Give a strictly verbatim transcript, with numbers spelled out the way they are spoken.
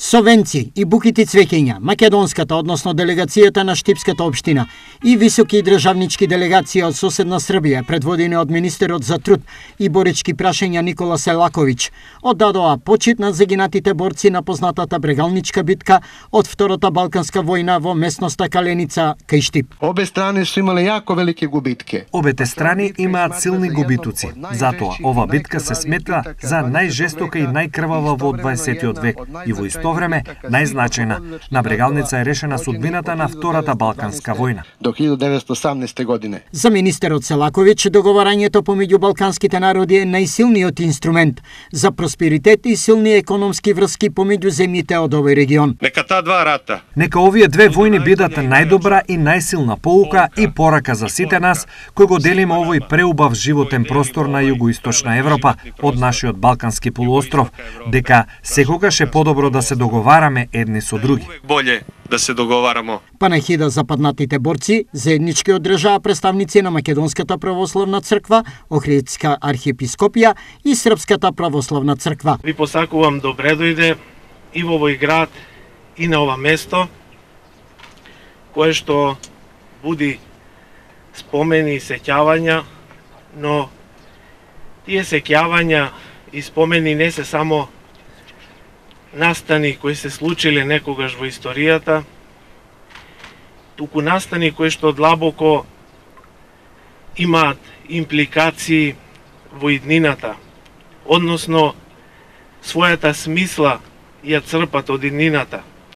Со венци и букити цвеќења, македонската, односно делегацијата на Штипската општина и високи државнички делегации од соседна Србија, предводени од министерот за труд и борички прашања Никола Селаковиќ, оддадоа почит на загинатите борци на познатата брегалничка битка од Втората Балканска војна во местноста Каленица кај Штип. Обе страни су имале јако велики губитки. Обете страни имаат силни губитуци. Затоа ова битка се смета за најжестока и најкрвава во дваесеттиот век и во исто време најзначајна. На Брегалница е решена судбината на Втората Балканска војна. До илјадесетстотини и осамнаесета година. За министерот Селаковиќ, договарањето помеѓу балканските народи е најсилниот инструмент за просперитет и силни економски врски помеѓу земјите од овој регион. Нека таа два рата. Нека овие две војни бидат најдобра и најсилна поука и порака за сите нас кои го делиме овој преубав животен простор на југоисточна Европа од нашиот Балкански полуостров, дека секогаш е подобро да се договараме едни со други. Боле да се договарамо. Панахида за паднатите борци заеднички одржаа представници на Македонската православна црква, Охридска архиепископија и Српската православна црква. Ви посакувам добре дојде и во овој град и на ова место, кое што буди спомени и сеќавања, но тие сеќавања и спомени не се само настани кои се случиле некогаш во историјата, туку настани кои што длабоко имаат импликации во иднината, односно својата смисла ја црпат од иднината.